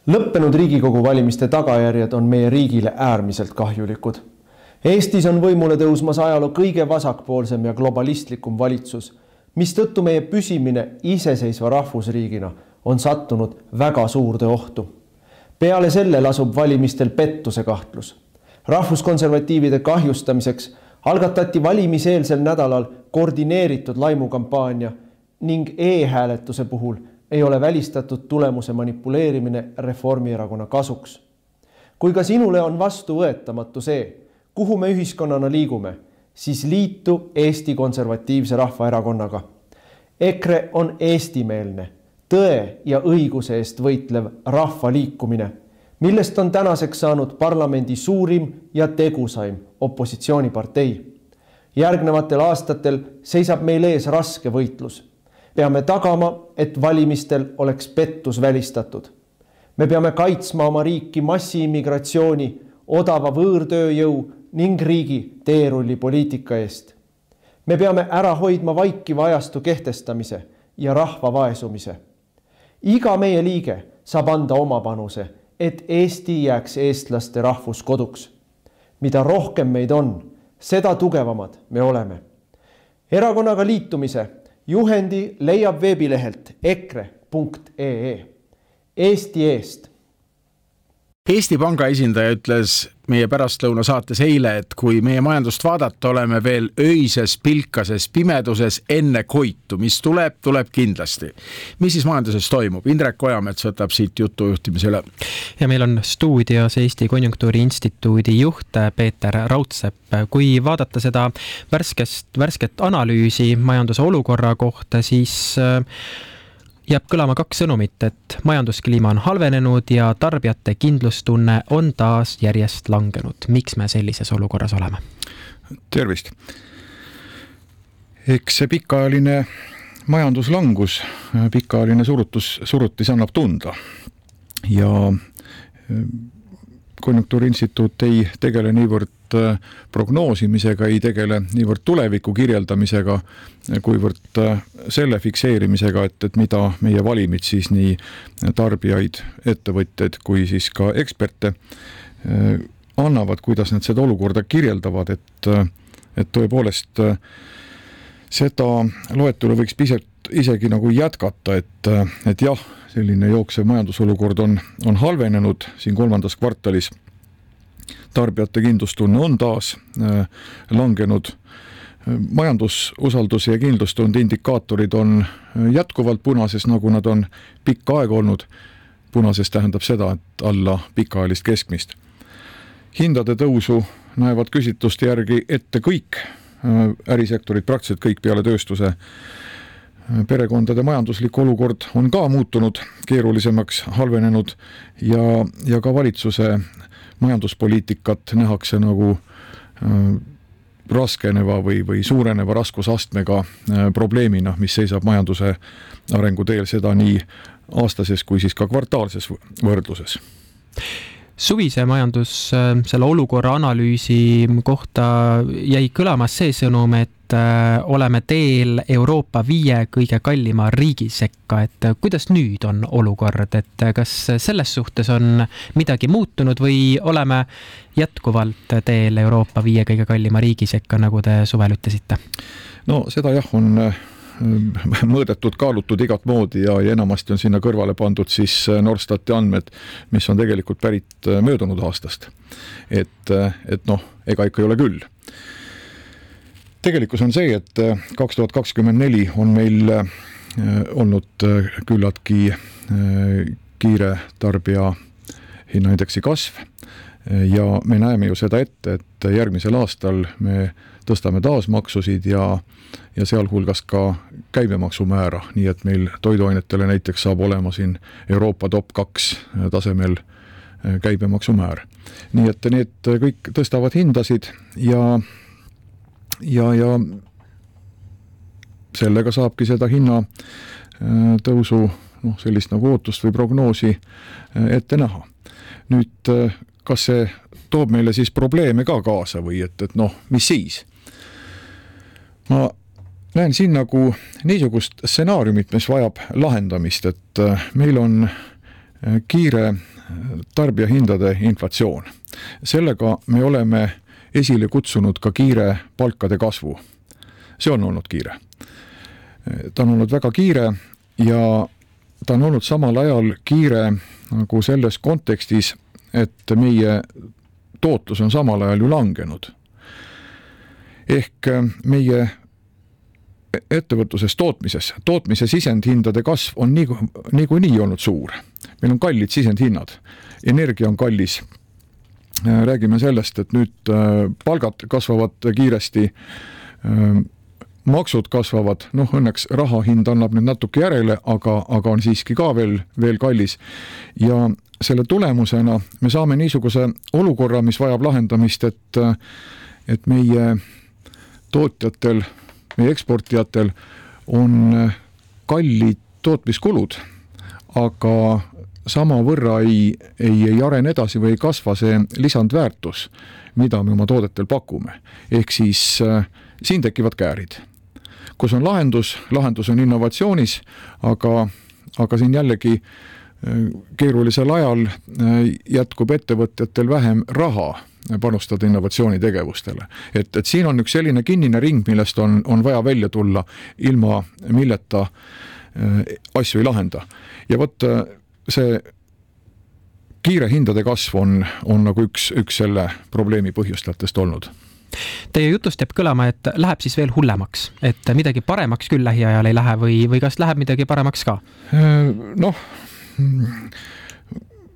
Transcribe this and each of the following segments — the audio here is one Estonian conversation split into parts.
Lõppenud Riigikogu valimiste tagajärjed on meie riigile äärmiselt kahjulikud. Eestis on võimule tõusmas ajaloo kõige vasakpoolsem ja globalistlikum valitsus, mistõttu meie püsimine iseseisva rahvusriigina on sattunud väga suurde ohtu. Peale selle lasub valimistel pettuse kahtlus. Rahvuskonservatiivide kahjustamiseks algatati valimiseelsel nädalal koordineeritud laimukampaania ning e-hääletuse puhul ei ole välistatud tulemuse manipuleerimine Reformierakonna kasuks. Kui ka sinule on vastuvõetamatu see, kuhu me ühiskonnana liigume, siis liitu Eesti Konservatiivse Rahvaerakonnaga. EKRE on eestimeelne, tõe ja õiguse eest võitlev rahvaliikumine, millest on tänaseks saanud parlamendi suurim ja tegusaim opositsioonipartei. Järgnevatel aastatel seisab meil ees raske võitlus. Peame tagama, et valimistel oleks pettus välistatud. Me peame kaitsma oma riiki massiimmigratsiooni, odava võõrtööjõu ning riigi teerullipoliitika eest. Me peame ära hoidma vaikiva ajastu kehtestamise ja rahva vaesumise. Iga meie liige saab anda oma panuse, et Eesti jääks eestlaste rahvuskoduks. Mida rohkem meid on, seda tugevamad me oleme. Erakonnaga liitumise juhendi leiab veebilehelt ekre.ee. Eesti eest. Eesti Panga esindaja ütles meie pärastlõuna saates eile, et kui meie majandust vaadata, oleme veel öises pilkases pimeduses enne koitu, mis tuleb kindlasti. Mis siis majanduses toimub? Indrek Ojamets võtab siit jutujuhtimise üle. Ja meil on stuudios Eesti Konjunktuuri Instituudi juht Peeter Raudsepp. Kui vaadata seda värsket analüüsi majanduse olukorra kohta, siis jääb kõlama kaks sõnumit, et majanduskliima on halvenenud ja tarbijate kindlustunne on taas järjest langenud. Miks me sellises olukorras oleme? Tervist! Eks see pikaajaline majanduslangus, pikaajaline surutis annab tunda. Ja Konjunktuuri Instituut ei tegele niivõrd prognoosimisega, ei tegele niivõrd tuleviku kirjeldamisega, kuivõrd selle fikseerimisega, et mida meie valimid siis nii tarbijaid, ettevõtjaid kui siis ka eksperte annavad, kuidas nad seda olukorda kirjeldavad, et tõepoolest seda loetelu võiks pisut isegi nagu jätkata, et jah, selline jooksev majandusolukord on halvenenud siin kolmandas kvartalis. Tarbijate kindlustunne on taas langenud. Majandususaldus ja kindlustund indikaatorid on jätkuvalt punases, nagu nad on pikka aega olnud. Punases tähendab seda, et alla pikaajalist keskmist. Hindade tõusu näevad küsitluste järgi ette kõik ärisektorid, praktiliselt kõik peale tööstuse. Perekondade majanduslik olukord on ka muutunud keerulisemaks, halvenenud ja ka valitsuse majanduspoliitikat nähakse nagu raskeneva või suureneva raskusastmega probleemina, mis seisab majanduse arenguteel, seda nii aastases kui siis ka kvartaalses võrdluses. Suvise majandus selle olukorra analüüsi kohta jäi kõlama see sõnum, et oleme teel Euroopa 5 kõige kallima riigi sekka, et kuidas nüüd on olukord, et kas selles suhtes on midagi muutunud või oleme jätkuvalt teel Euroopa 5 kõige kallima riigi sekka, nagu te suvel ütlesite? No seda jah on mõõdetud, kaalutud igat moodi ja enamasti on sinna kõrvale pandud siis Norstati andmed, mis on tegelikult pärit möödunud aastast. Et ega ikka ei ole küll. Tegelikkus on see, et 2024 on meil olnud küllaltki kiire tarbija hinnaindeksi kasv ja me näeme ju seda ette, et järgmisel aastal me tõstame taas maksusid ja sealhulgas ka käibemaksumäära, nii et meil toiduainetele näiteks saab olema siin Euroopa top 2 tasemel käibemaksumäär. Nii et need kõik tõstavad hindasid ja sellega saabki seda hinna tõusu sellist nagu ootust või prognoosi ette näha. Nüüd, kas see toob meile siis probleeme ka kaasa või et mis siis? Ma näen siin nagu niisugust stsenaariumit, mis vajab lahendamist, et meil on kiire tarbijahindade inflatsioon. Sellega me oleme esile kutsunud ka kiire palkade kasvu. See on olnud kiire. Ta on olnud väga kiire ja ta on olnud samal ajal kiire nagu selles kontekstis, et meie tootlus on samal ajal ju langenud. Ehk meie ettevõtluses tootmise sisendhindade kasv on niikuinii olnud suur. Meil on kallid sisendhinnad, energia on kallis. Räägime sellest, et nüüd palgad kasvavad kiiresti, maksud kasvavad, õnneks raha hind annab nüüd natuke järele, aga on siiski ka veel kallis. Ja selle tulemusena me saame niisuguse olukorra, mis vajab lahendamist, et meie tootjatel, meie eksportijatel on kallid tootmiskulud, aga sama võrra ei arene edasi või ei kasva see lisandväärtus, mida me oma toodetel pakume. Ehk siis siin tekivad käärid. Kus on lahendus on innovatsioonis, aga siin jällegi keerulisel ajal jätkub ettevõtjatel vähem raha panustada innovatsioonitegevustele. Et siin on üks selline kinnine ring, millest on vaja välja tulla, ilma milleta asju ei lahenda. Ja võt see kiire hindade kasv on nagu üks selle probleemi põhjustajatest olnud. Teie jutust jääb kõlama, et läheb siis veel hullemaks, et midagi paremaks küll lähiajal ei lähe või kas läheb midagi paremaks ka?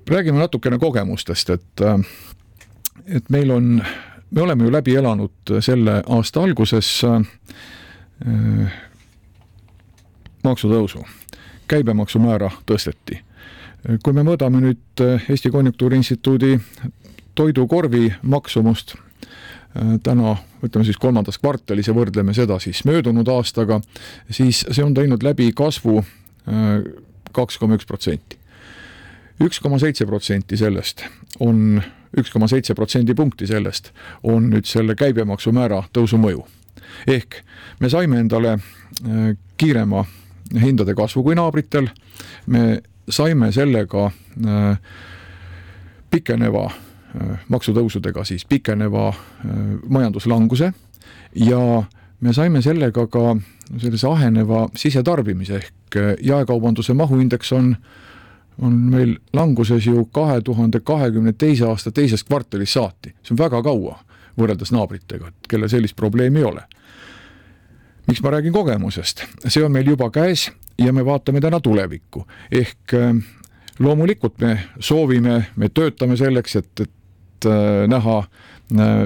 Räägime natukene kogemustest, et me oleme ju läbi elanud selle aasta alguses maksutõusu. Käibemaksumäära tõsteti. Kui me mõõdame nüüd Eesti Konjunktuuriinstituudi toidukorvi maksumust täna, ütleme siis 3. kvartalis ja võrdleme seda siis möödunud aastaga, siis see on teinud läbi kasvu 2,1%. 1,7% sellest on 1,7% punkti sellest on nüüd selle käibemaksumäära tõusu mõju. Ehk me saime endale kiirema hindade kasvu kui naabritel, me saime sellega pikeneva maksutõusudega siis pikeneva majanduslanguse ja me saime sellega ka sellise aheneva sisetarbimise ehk jaekaubanduse mahuindeks on meil languses ju 2022. aasta teisest kvartalis saati. See on väga kaua võrreldes naabritega, kelle sellist probleemi ei ole. Miks ma räägin kogemusest? See on meil juba käes ja me vaatame täna tulevikku. Ehk loomulikult me soovime, me töötame selleks, et näha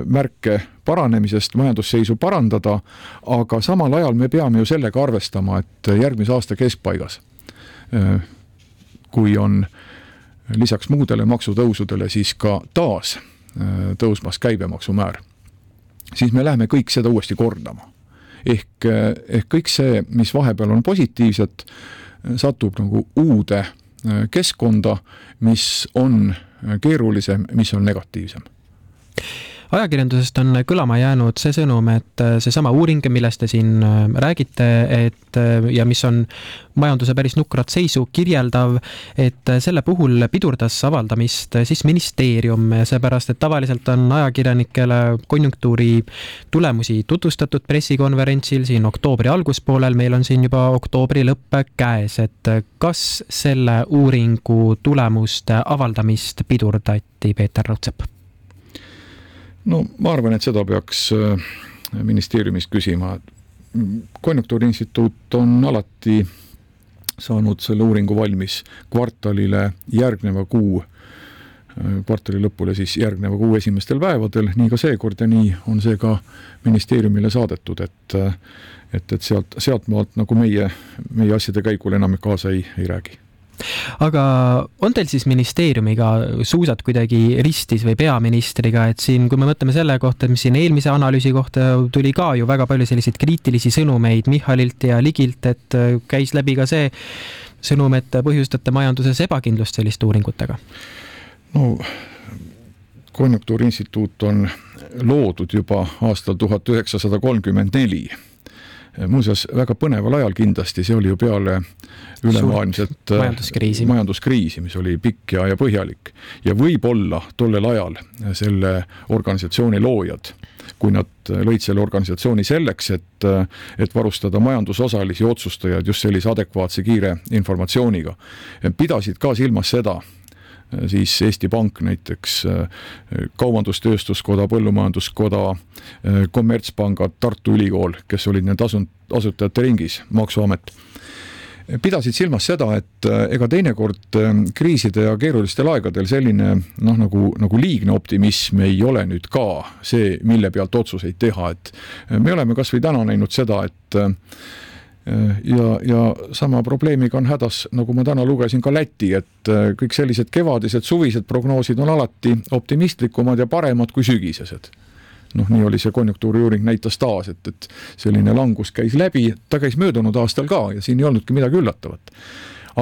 märke paranemisest, majandusseisu parandada, aga samal ajal me peame ju sellega arvestama, et järgmise aasta keskpaigas, kui on lisaks muudele maksutõusudele siis ka taas tõusmas käibemaksumäär, siis me läheme kõik seda uuesti kordama. Ehk kõik see, mis vahepeal on positiivset, satub nagu uude keskkonda, mis on keerulisem, mis on negatiivsem. Ajakirjandusest on kõlama jäänud see sõnum, et see sama uuring, millest te siin räägite, ja mis on majanduse päris nukrat seisu kirjeldav, et selle puhul pidurdas avaldamist siis ministeerium, seepärast, et tavaliselt on ajakirjanikele konjunktuuri tulemusi tutvustatud pressikonverentsil siin oktoobri alguspoolel, meil on siin juba oktoobri lõpp käes, et kas selle uuringu tulemuste avaldamist pidurdati, Peeter Raudsepp? No ma arvan, et seda peaks ministeeriumist küsima. Konjunktuuriinstituut on alati saanud selle uuringu valmis kvartalile järgneva kuu, kvartali lõpule siis järgneva kuu esimestel päevadel, nii ka seekord ja nii on see ka ministeeriumile saadetud, et sealt maalt nagu meie asjade käigul enam kaasa ei räägi. Aga on teil siis ministeeriumiga suusad kuidagi ristis või peaministriga, et siin, kui me mõtleme selle kohta, mis siin eelmise analüüsi kohta tuli ka ju väga palju selliseid kriitilisi sõnumeid Michalilt ja Ligilt, et käis läbi ka see sõnum, et põhjustate majanduses ebakindlust selliste uuringutega? No, Konjunktuuriinstituut on loodud juba aastal 1934. muuseas väga põneval ajal kindlasti, see oli ju peale ülemaailmset majanduskriisi, mis oli pikk ja põhjalik. Ja võib-olla tollel ajal selle organisatsiooni loojad, kui nad lõid selle organisatsiooni selleks, et varustada majandusosalisi otsustajaid just sellise adekvaatse kiire informatsiooniga, pidasid ka silmas seda, siis Eesti Pank näiteks, Kaubandus-Tööstuskoda, Põllumajanduskoda, Kommertspangad, Tartu Ülikool, kes olid need asutajate ringis, Maksuamet, pidasid silmas seda, et ega teinekord kriiside ja keerulistel aegadel selline nagu liigne optimism ei ole nüüd ka see, mille pealt otsuseid teha, et me oleme kas või täna näinud seda, et ja sama probleemiga on hädas, nagu ma täna lugesin ka Läti, et kõik sellised kevadised, suvised prognoosid on alati optimistlikumad ja paremad kui sügisesed. Nii oli see konjunktuuriuuring näitas taas, et selline langus käis läbi, ta käis möödunud aastal ka ja siin ei olnudki midagi üllatavat.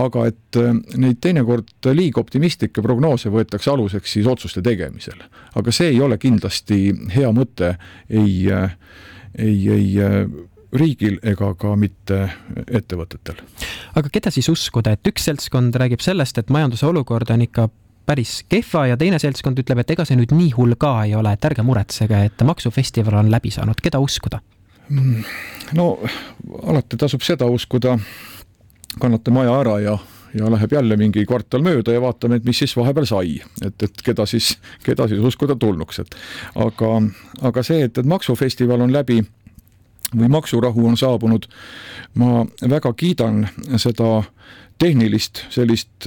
Aga et neid teinekord liiga optimistlikke prognoose võetakse aluseks siis otsuste tegemisel. Aga see ei ole kindlasti hea mõte ei riigil ega ka mitte ettevõtetel. Aga keda siis uskuda, et üks seltskond räägib sellest, et majanduse olukord on ikka päris kehva ja teine seltskond ütleb, et ega see nüüd nii hull ka ei ole, et ärge muretsege, et maksufestival on läbi saanud. Keda uskuda? No alati tasub seda uskuda, kannate maja ära ja läheb jälle mingi kvartal mööda ja vaatame, et mis siis vahepeal sai, et keda siis uskuda tulnuks. Aga see, et maksufestival on läbi või maksurahu on saabunud, ma väga kiidan seda tehnilist sellist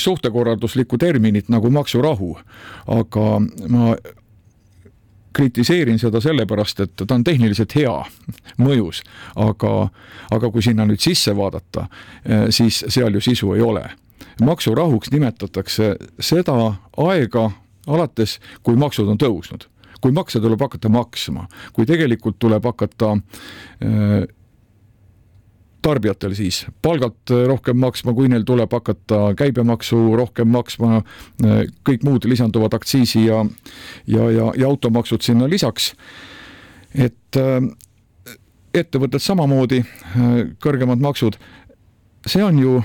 suhtekorralduslikku terminit nagu maksurahu, aga ma kritiseerin seda sellepärast, et ta on tehniliselt hea mõjus, aga kui sinna nüüd sisse vaadata, siis seal ju sisu ei ole. Maksurahuks nimetatakse seda aega alates, kui maksud on tõusnud. Kui makse tuleb hakata maksma, kui tegelikult tuleb hakata tarbijatel siis palgalt rohkem maksma, kui neil tuleb hakata käibemaksu rohkem maksma, kõik muud lisanduvad aktsiisi ja automaksud sinna lisaks, et ettevõtted samamoodi kõrgemad maksud, see on ju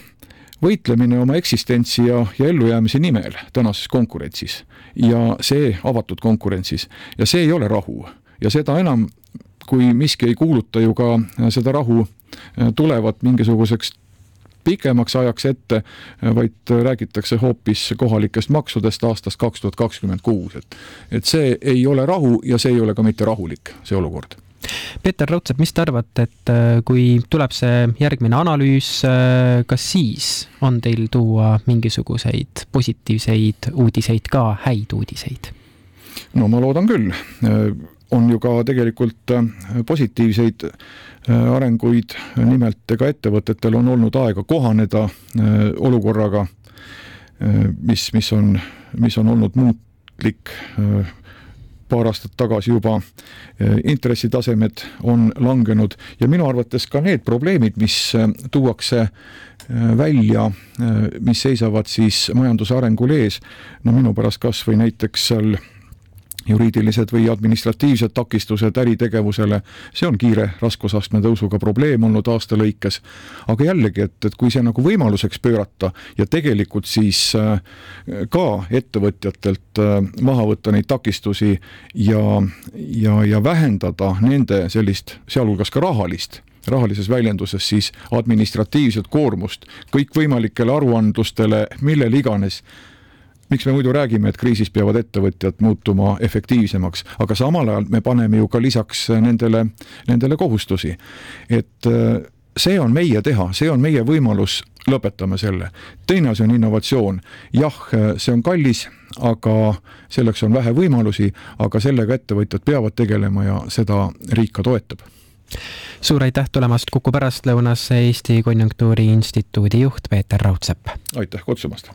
võitlemine oma eksistentsi ja ellujäämise nimel tänases konkurentsis ja see avatud konkurentsis ja see ei ole rahu ja seda enam, kui miski ei kuuluta ju ka seda rahu tulevat mingisuguseks pikemaks ajaks ette, vaid räägitakse hoopis kohalikest maksudest aastast 2026. Et see ei ole rahu ja see ei ole ka mitte rahulik, see olukord. Peeter Raudsepp, mis te arvate, et kui tuleb see järgmine analüüs, kas siis on teil tuua mingisuguseid positiivseid uudiseid ka, häid uudiseid? No ma loodan küll. On ju ka tegelikult positiivseid arenguid, nimelt ega ettevõtetel on olnud aega kohaneda olukorraga, mis on olnud muutlik paar aastat tagasi juba, intressitasemed on langenud ja minu arvates ka need probleemid, mis tuuakse välja, mis seisavad siis majanduse arengul ees, minu pärast kas või näiteks seal juriidilised või administratiivsed takistused äritegevusele, see on kiire raskusastme tõusuga probleem olnud aasta lõikes. Aga jällegi, et kui see nagu võimaluseks pöörata ja tegelikult siis ka ettevõtjatelt maha võtta neid takistusi ja vähendada nende sellist, sealhulgas ka rahalises väljenduses siis administratiivset koormust kõikvõimalikele aruandlustele, millel iganes. Miks me muidu räägime, et kriisis peavad ettevõtjad muutuma efektiivsemaks, aga samal ajal me paneme ju ka lisaks nendele kohustusi. Et see on meie teha, see on meie võimalus, lõpetame selle. Teine asi on innovatsioon. Jah, see on kallis, aga selleks on vähe võimalusi, aga sellega ettevõtjad peavad tegelema ja seda riik ka toetab. Suur aitäh tulemast Kuku pärastlõunasse Eesti Konjunktuuri Instituudi juht Peeter Raudsepp. Aitäh kutsumast!